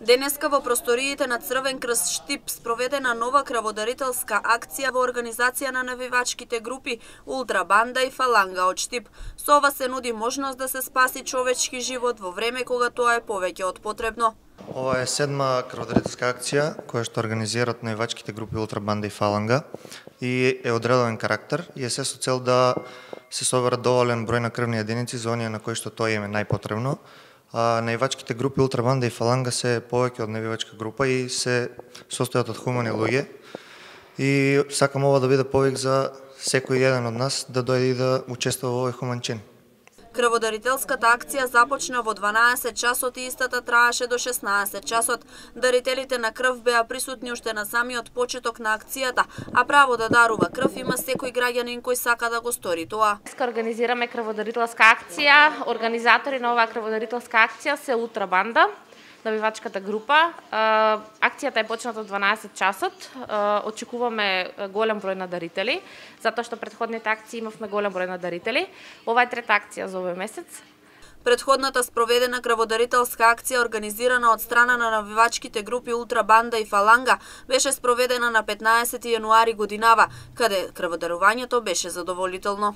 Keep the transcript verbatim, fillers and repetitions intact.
Денеска во просториите на Црвен крст Штип спроведена нова крводарителска акција во организација на навивачките групи Ултра Банда и Фаланга од Штип. Со ова се нуди можност да се спаси човечки живот во време кога тоа е повеќе од потребно. Ова е седма крводарителска акција која што организираат навивачките групи Ултра Банда и Фаланга и е од редовен карактер и е се со цел да се соберат доволен број на крвни единици за оние на кои што тоа им е најпотребно. Навивачките групи Ултра Банда и Фаланга се повеќе од навивачка група и се состојат од хумани луѓе. И сакам ова да биде повик за секој еден од нас да дојде и да учествува во овој хуман чин. Крводарителската акција започна во дванаесет часот и истата траеше до шеснаесет часот. Дарителите на крв беа присутни уште на самиот почеток на акцијата, а право да дарува крв има секој граѓанин кој сака да го стори тоа. Деска организираме крводарителска акција. Организатори на оваа крводарителска акција се Ултра Банда, навивачката група. Акцијата е почната од дванаесет часот. Очекуваме голем број на дарители, затоа што претходните акции имавме голем број на дарители. Ова е трета акција за овој месец. Предходната спроведена крводарителска акција организирана од страна на навивачките групи Ултра Банда и Фаланга беше спроведена на петнаесети јануари годинава, каде крводарувањето беше задоволително.